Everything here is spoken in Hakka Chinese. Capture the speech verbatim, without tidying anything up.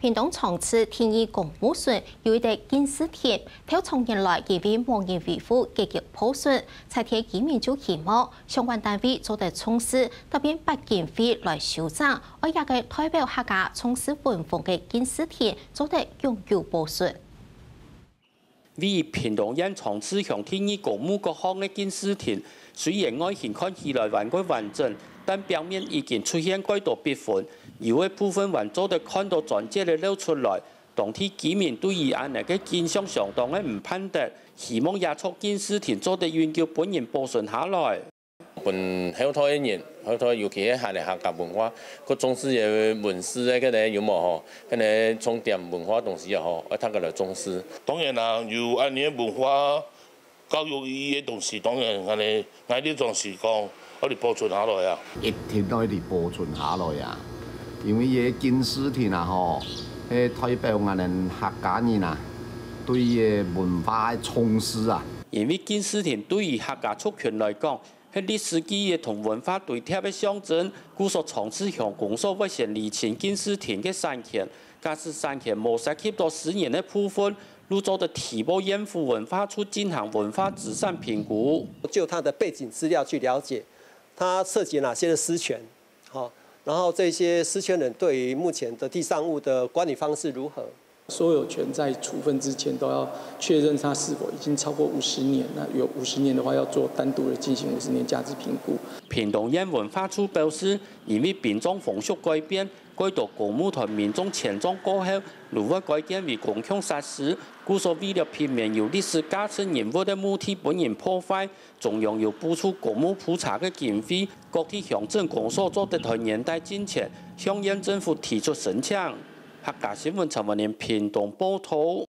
屏東長治第二公墓脣有一垤敬字亭，頭長年來因為無人維護，結結破損，在地居民就希望相關單位做得重視，特別撥經費來修整，愛這個代表客家長治文風个敬字亭做得永久保存。 位於屏東縣長治鄉第二公墓角項个敬字亭，雖然外形看起來還過完整，但表面已經出現蓋多壁痕，有个部分還做得看到磚節仔露出來。當地居民對於恁呢个景象相當个毋盼得，希望這座敬字亭做得永久分人保存下來。 分後代个人，後代尤其係客家文化，較重視个文字个，該个有無吼？該个重點文化東西啊吼，愛大家來重視。當然啦，有恁呢个文化教育意義个東西，當然𠊎个𠊎个立場係講，愛來保存下來啊。一定愛來保存下來啊，因為這敬字亭啊吼，係代表𠊎等客家人啊，對這文化个重視啊。因為敬字亭對於客家族群來講， 係歷史記憶同文化堆疊个象徵，故所長治鄉公所會先釐清敬字亭个產權，假使產權無涉及到私人个部分，就做得提報縣府文化處進行文化資產評估。就它的背景資料去了解，它涉及哪些的私權，好，然後這些私權人對於目前的地上物的管理方式如何？ 所有權在處分之前都要確認它是否已經超過五十年，那有五十年的話，要做單獨的進行五十年價值評估。屏東縣文化處表示，因為殯葬風俗改變，蓋多公墓同民眾遷葬過後，就會改建為公共設施，故所為了避免有歷史價值人物个墓地分人破壞， 中央有補助公墓普查个經費，各地鄉鎮公所做得在年底進前向縣政府提出申請。客家新聞陳文林屏東報導。